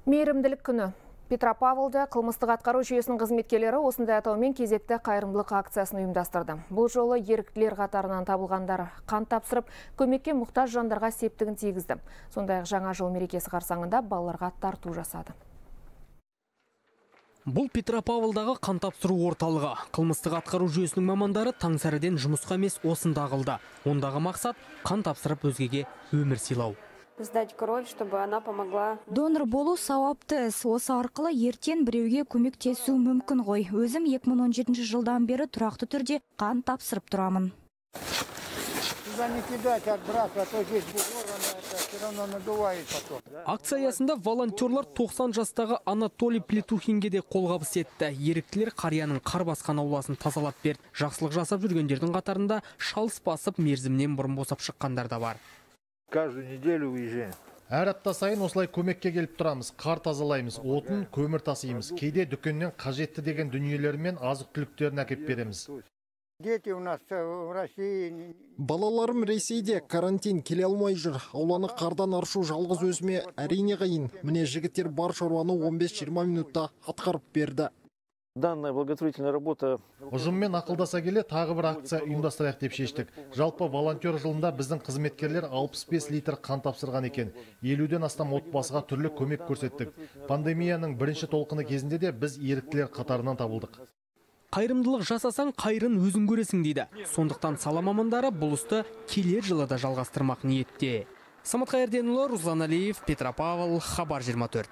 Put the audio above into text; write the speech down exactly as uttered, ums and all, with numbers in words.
Мейірімділік күні. Петропавлда қылмыстық атқару жүйесінің қызметкерлері осындай атаумен кезекті қайырымдылық акциясын ұйымдастырды. Бұл жолы еріктілер қатарынан табылғандар қан тапсырып, көмекке мұқтаж жандарға септігін тигізді. Сондай-ақ жаңа жыл мерекесі қарсаңында балаларға тарту жасады. Бұл Петропавлдағы қан тапсыру орталығы. Қылмыстық атқару жүйесінің мамандары таңсәріден жұмысқа емес осында қылды. Ондағы мақсат қан тапсырып өзгеге өмір сыйлау. Сдать кровь, чтобы она помогла. Донор болу сауапты іс. Осы арқылы ертең біреуге көмектесу мүмкін ғой. Өзім екі мың он жетінші жылдан бері тұрақты түрде қан тапсырып тұрамын. Акция аясында волонтерлар тоқсан жастағы Анатолий Плетухинге де қолғабыс етті. Еріктілер қарияның қар басқан ауласын тазалап берді. Жақсылық жасап жүргендердің қатарында шалыс басып мерзімнен бұрын босап шыққандар да бар. Каждую неделю уезжаем. Әр апта сайын осылай көмекке келіп тұрамыз. Қар тазалаймыз, отын, көмір тасимыз. Кейде дүкеннен қажетті деген дүниелер мен азық-түліктерін әкеп береміз. Дети у нас в России. Балаларым Ресейде карантин келе алмай жүр. Ауланы қардан аршу жалғыз өзіме әрине қиын. Міне жігіттер бар шаруаны он бес жиырма минутта атқарып берді. Данная благотворительная работа. Ұжыммен ақылдаса келе тағы бір акция ұйымдастырайық деп шештік. Жалпы волонтер жылында біздің қызметкерлер алпыс бес литр қан тапсырған екен. елуден астам отбасыға түрлі көмек көрсеттік. Пандемияның бірінші толқыны кезінде де біз еріктілер қатарынан табылдық. Қайырымдылық жасасаң, қайырын өзің көресің дейді. Сондықтан сала мамандары бұл істі келер жылы да жалғастырмақ ниетте. Самат Қайырденұлы, Руслан Алиев, Петропавл, Хабар жиырма төрт.